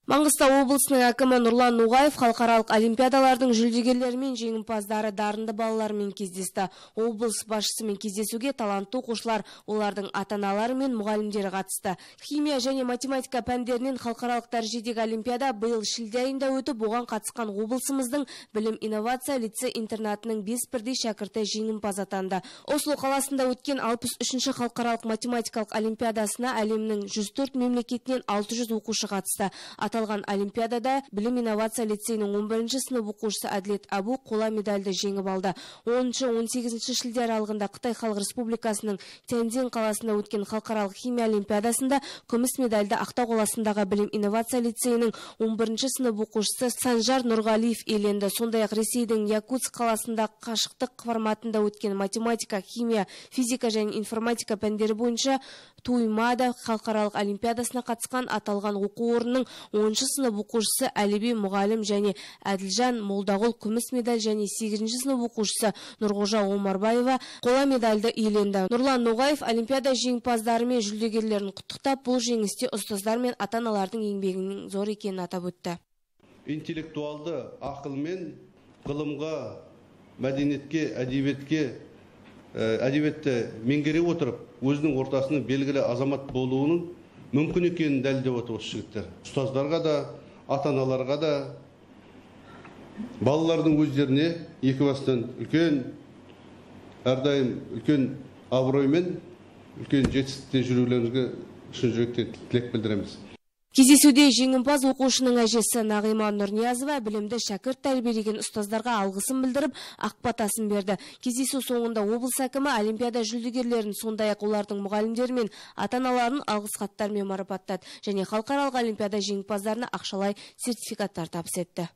Маңғыстау облысының әкімі Нұрлан Ноғаев халықаралық олимпиадалардың жүлдегерлері мен жеңімпаздары дарынды балалармен кездесті. Облыс басшысымен кездесуге талантты оқушылар, олардың ата-аналары мен мұғалімдері қатысты. Химия және математика пәндерінен халықаралық дәрежедегі олимпиада биыл шілде айында өтіп, оған қатысқан облысымыздың білім инновация лицей-интернатының 5 бірдей шәкірті жеңімпаз атанды. Осло қаласында өткен 63-ші халықаралық математикалық олимпиадасына әлемнің 104 мемлекетінен 600 оқушы қатысты. Аталған олимпиадада білім инновация лицейінің 11-ші сынып оқушысы Әділет Абу қола медальді жеңіп алды. 10-18 шілде аралығында Қытай Халық Республикасының Тяньцзин қаласында өткен халықаралық химия олимпиадасында күміс медальді Ақтау қаласындағы білім инновация лицейінің 11-ші сынып оқушысы Санжар Нұрғалиев иеленді. Сондай-ақ Ресейдің Якутск қаласында қашықтық форматында өткен математика, химия, физика және информатика пәндері бойынша Туймада халықаралық олимпиадасына қатысқан аталған оқу орнының 10-шы сынып оқушысы Әліби мұғалім және Әділжан Молдағұл күміс медаль және 8-ші сынып оқушысы Нұрғожа Омарбаева қола медальді иеленді. Нұрлан Ноғаев олимпиада жеңімпаздары мен жүлдегерлерін құттықтап, бұл жеңісте ұстаздар мен ата-аналардың еңбегінің зор екенін атап өтті. Интеллектуалды ақылмен ғылымға, мәдениетке, әдебиетті меңгере отырып, өзінің ортасының белгілі азамат болуының мүмкін екенін дәлелдеп отыр осы жігіттер. Ұстаздарға да, ата-аналарға да, балалардың өздеріне екі бастан әрдайым үлкен абыроймен, үлкен жетістікте жүрулеріңізге шын жүректен тілек білдіреміз. Кездесуде жеңімпаз оқушының әжесі Нағима Нұрниязова білімді шәкірт тәрбиелеген ұстаздарға алғысын білдіріп, ақ батасын берді. Кездесу соңында облыс әкімі олимпиада жүлдегерлерін, сондай-ақ олардың мұғалімдері мен ата-аналарын алғыс хаттармен марапаттады және халықаралық олимпиада жеңімпаздарына ақшалай сертификаттар табыс етті.